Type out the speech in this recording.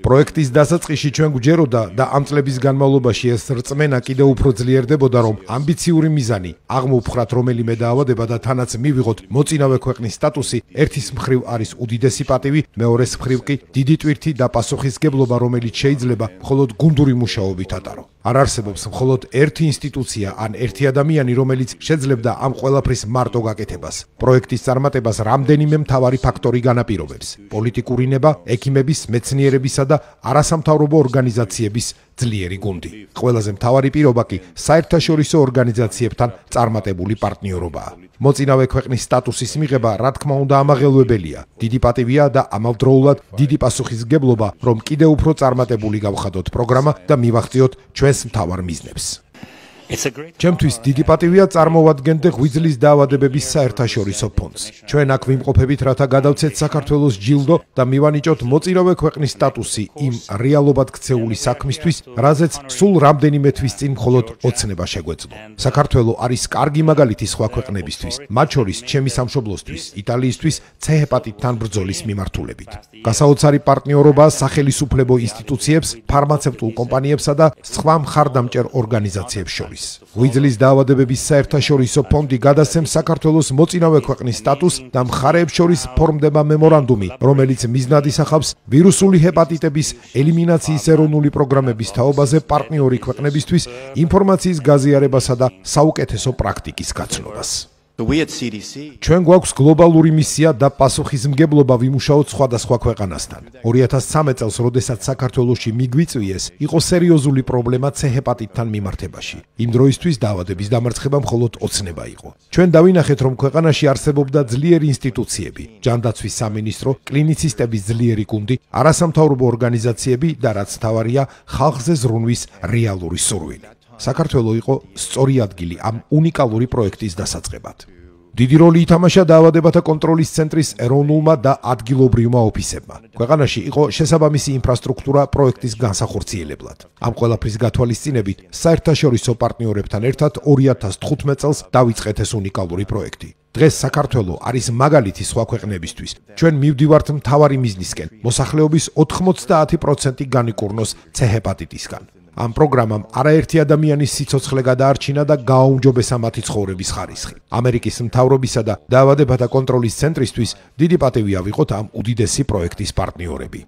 პროექტის დასაწყისში ჩვენ გვჯეროდა და ამ წლების განმავლობაში ეს რწმენა კიდევ უფრო ძლიერდებოდა, რომ ამბიციური მიზანი აღმოვფხრათ რომელიმე დაავადება და თანაც მივიღოთ მოწინავე ქვეყნის სტატუსი, ერთის მხრივ არის უდიდესი პატივი, მეორეს მხრივ კი დიდი ტვირთი და პასუხისგებლობა, რომელიც შეიძლება მხოლოდ გუნდური მუშაობით ატარო. არ არსებობს მხოლოდ ერთი ინსტიტუცია ან ერთი ადამიანი, რომელიც შეძლებდა ამ ყველაფრის მარტო გაკეთებას. პროექტის წარმატებას რამდენიმე მთავარი ფაქტორი განაპირობებს: პოლიტიკური ნება, ექიმების, მეცნიერებისა და არასამთავრობო ორგანიზაციების ძლიერი გუნდი. ყველაზე მთავარი პირობა კი საერთაშორისო ორგანიზაციებთან წარმატებული პარტნიორობაა. მოწინავე ქვეყნის სტატუსის მიღება, რა თქმა უნდა, ამაღელვებელია. დიდი პატივია და ამავდროულად დიდი პასუხისმგებლობა, რომ კიდევ უფრო წარმატებული გავხადოთ პროგრამა და მივახციოთ ჩვენს მთავარ მიზნებს. ჩემთვის დიდი პატივია წარმოვადგენდე ღვიძლის დაავადებების საერთაშორისო ფონდს. ჩვენ აქ ვიმყოფებით, რათა გადავცეთ საქართველოს ჯილდო და მივანიჭოთ მოწინავე ქვეყნის სტატუსი იმ რეალობად ქცეული საქმისთვის, რაზეც სულ რამდენიმე თვის წინ მხოლოდ ოცნება შეგვეძლო. საქართველო არის კარგი მაგალითი სხვა ქვეყნებისთვის, მათ შორის ჩემი სამშობლოსთვის, იტალიისთვის C-ჰეპატიტთან ბრძოლის მიმართულებით. გასაოცარი პარტნიორობა სახელისუფლებო ინსტიტუციებს, ფარმაცევტულ კომპანიებსა და სხვა მხარდამჭერ ორგანიზაციებს შორის. ღვიძლის დაავადებების საერთაშორისო ფონდი გადასცემს საქართველოს მოწინავე ქვეყნის სტატუსს და მხარეებს შორის ფორმდება მემორანდუმი, რომელიც მიზნად ისახავს ვირუსული ჰეპატიტების ელიმინაციის ეროვნული პროგრამების თაობაზე პარტნიორი ქვეყნებისთვის ინფორმაციის გაზიარებასა და საუკეთესო პრაქტიკის გაცნობას. ჩვენ გვაქვს გლობალური მისია და პასუხისმგებლობა ვიმუშაოთ სხვადასხვა ქვეყანასთან. 2013 წელს, როდესაც საქართველოში მიგვიწვიეს, იყო სერიოზული პრობლემა C-ჰეპატიტთან მიმართებაში. იმ დროისთვის დაავადების დამარცხება მხოლოდ ოცნება იყო. ჩვენ დავინახეთ, რომ ქვეყანაში არსებობდა ძლიერი ინსტიტუციები, ჯანდაცვის სამინისტრო, კლინიცისტების ძლიერი გუნდი, არასამთავრობო ორგანიზაციები და რაც მთავარია, ხალხზე ზრუნვის რეალური სურვილი. საქართველო იყო სწორი ადგილი ამ უნიკალური პროექტის დასაწყებად. დიდი როლი ითამაშა დაავადებათა კონტროლის ცენტრის ეროვნულმა და ადგილობრივმა ოფისებმა. ქვეყანაში იყო შესაბამისი ინფრასტრუქტურა პროექტის განსახორციელებლად. ამ ყველაფრის გათვალისწინებით საერთაშორისო პარტნიორებთან ერთად 2015 წელს დავიწყეთ ეს უნიკალური პროექტი. დღეს საქართველო არის მაგალითი სხვა ქვეყნებისთვის. ჩვენ მივდივართ მთავარი მიზნისკენ, მოსახლეობის 90% განიკურნოს C-ჰეპატიტისგან. ამ პროგრამამ არაერთი ადამიანის სიცოცხლე გადაარჩინა და გააუმჯობესა მათი ცხოვრების ხარისხი. ამერიკის მთავრობისა და დაავადებათა კონტროლის ცენტრისთვის დიდი პატივი ავიღოთ ამ უდიდესი პროექტის პარტნიორები.